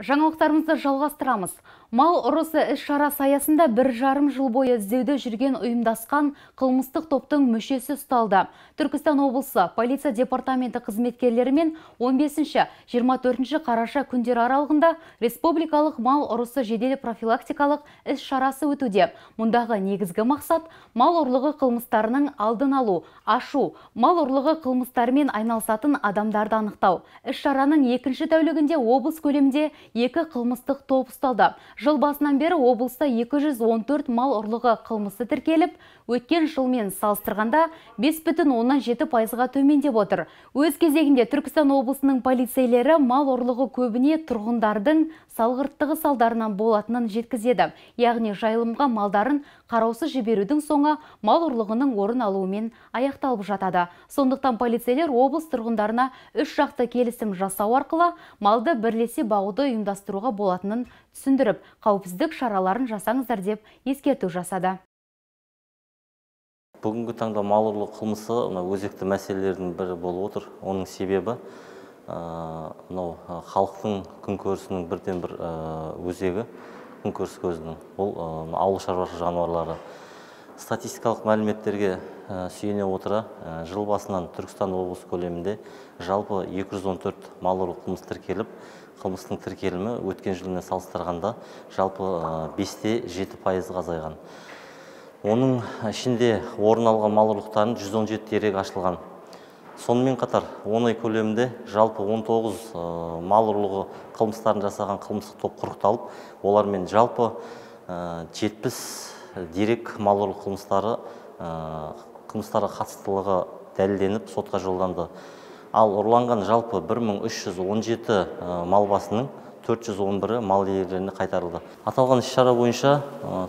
Жаңалықтарымызды жалғастырамыз. Мал ұрысы іс-шарасы аясында 1,5 жыл бойы іздеуде жүрген ұйымдасқан қылмыстық топтың мүшесі ұсталды. Түркістан облысы полиция департаменті қызметкерлерімен 15-24 қараша күндер аралығында республикалық мал ұрысы жедел профилактикалық іс-шарасы өтуде. Мұндағы негізгі мақсат мал ұрлығы қылмыстарының алдын алу, ашу, мал ұрлығы қылмыстарымен айналысатын адамдарды анықтау. Іс-шараның екінші тәулігінде облыс көлемінде 2 қылмыстық топ ұсталды. Жыл басынан бері облыста 214 мал ұрлығы қылмысы тіркеліп, өткен жылмен салыстырғанда 5,7%-ға төмендеп отыр. Өз кезегінде Түркістан облысының полицейлері мал ұрлығы көбіне тұрғындардың салғырттығы салдарынан болатынын жеткізеді. Яғни жайылымға малдарын қараусыз жіберудің соңы мал ұрлығының орын алуымен аяқталып жатады. Сондықтан полицейлер облыс тұрғындарына 3 жақты келісім жасау арқылы малды бірлесе бағуды ұйымдастыруға болатынын түсіндіріп, қауіпсіздік шараларын жасаңыздар деп ескерту жасады. Бүгінгі таңда мал ұрлығы қылмысы өзекті мәселелердің бірі болып отыр. Оның себебі халықтың күнкөрісінің бірден бір өзегі, күнкөріс көзінің, ол ауыл шаруашылығы жануарлары. Статистикалық мәліметтерге сүйене отыра, жыл басынан Түркістан облысы көлемінде жалпы 214 мал ұрлығы қылмысы тіркеліп, қылмыстың тіркелімі өткен жылмен салыстырғанда жалпы 5,7%-ға азайған. Оның ішінде орын алған мал ұрлықтарын 117 дерек ашылған. Сонымен қатар 10 ай көлемінде жалпы 19 мал ұрлығы қылмыстарын жасаған қылмыстық топ құрықталып, олармен жалпы 70 дерек мал ұрлығы қылмыстарға қатыстылығы дәлелденіп сотқа жолданды. Ал ұрланған жалпы 1317 мал басының 411-і мал иелеріне қайтарылды. Аталған іс-шара бойынша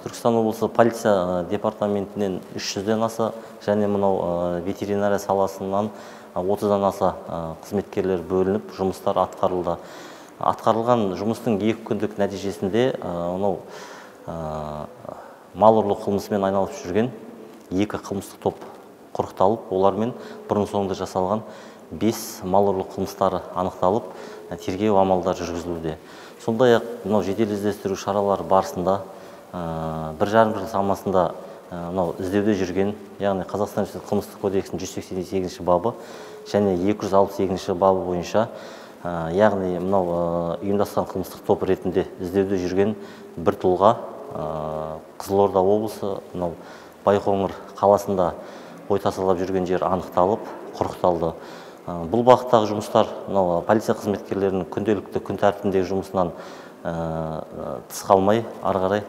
Түркістан облысы полиция департаментінен 300-ден аса және мынау ветеринария саласынан 30-дан аса қызметкерлер бөлініп, жұмыстар атқарылды. Атқарылған жұмыстың 2 күндік нәтижесінде мал ұрлығы қылмысымен айналысып жүрген 2 қылмыстық топ құрықталып, олармен бұрын соңды жасалған 5 мал ұрлығы қылмыстары анықталып, тергеу амалдары жүргізілуде. Сондай-ақ жедел іздестіру шаралары барысында 1,5 жыл шамасында іздеуде жүрген, яғни Қазақстан қылмыстық кодексінің 188 бабы және 268 бабы бойынша, яғни ұйымдасқан қылмыстық топ ретінде іздеуде жүрген бір тұлға Қызылорда облысы Байқоңыр қаласында ой тасалап жүрген жер анықталып, құрықталды. Бұл бағыттағы жұмыстар полиция қызметкерлерінің күнделікті күн тәртібіндегі жұмысынан тыс қалмай, ары қарай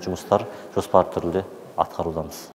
жұмыстар жоспарлы түрде атқарудамыз.